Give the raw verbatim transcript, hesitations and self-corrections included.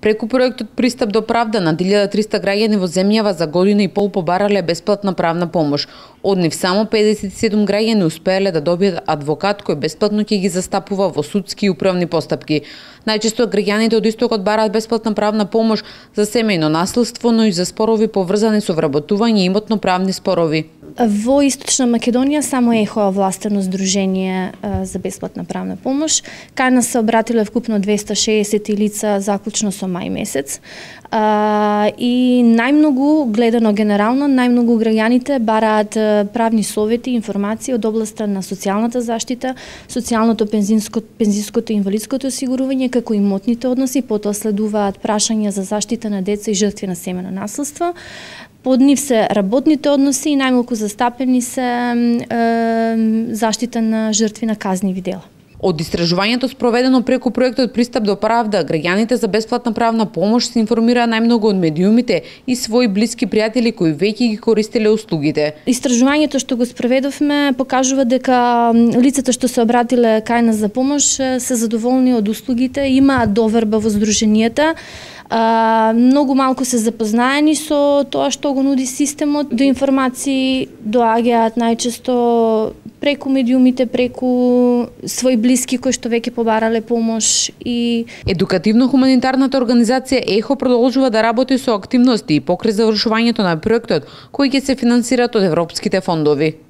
Преку проектот Пристап до правда над илјада и триста граѓани во земјава за година и пол побарале бесплатна правна помош. Од нив само педесет и седум граѓани успеале да добијат адвокат кој бесплатно ќе ги застапува во судски и управни постапки. Најчесто граѓаните од истокот бараат бесплатна правна помош за семејно насилство, но и за спорови поврзани со вработување и имотно-правни спорови. Во Источна Македонија само ЕХО овластено здружение за бесплатна правна помош. Кај нас се обратиле вкупно двеста и шеесет лица заклучно со мај месец. А, и најмногу, гледано генерално, најмногу граѓаните бараат правни совети, информации од областа на социјалната заштита, социјалното, пензинско, пензинското и инвалидското осигурување, како имотните односи, потоа следуваат прашања за заштита на деца и жртви на семено насилство. Под нив се работните односи и најмалку застапени се е, заштита на жртви на казниви дела. Од истражувањето спроведено преку проектот Пристап до правда, граѓаните за бесплатна правна помош се информираа најмногу од медиумите и своји блиски пријатели кои веќе ги користеле услугите. Истражувањето што го спроведовме покажува дека лицата што се обратиле кај нас за помош се задоволни од услугите, имаат доверба во здруженијата. Uh, многу малку се запознаени со тоа што го нуди системот. До информации доаѓаат најчесто преку медиумите, преку своји блиски кои што веќе побарале помош. И едукативно-хуманитарната организација ЕХО продолжува да работи со активности и покрај завршувањето на проектот кои ќе се финансираат од европските фондови.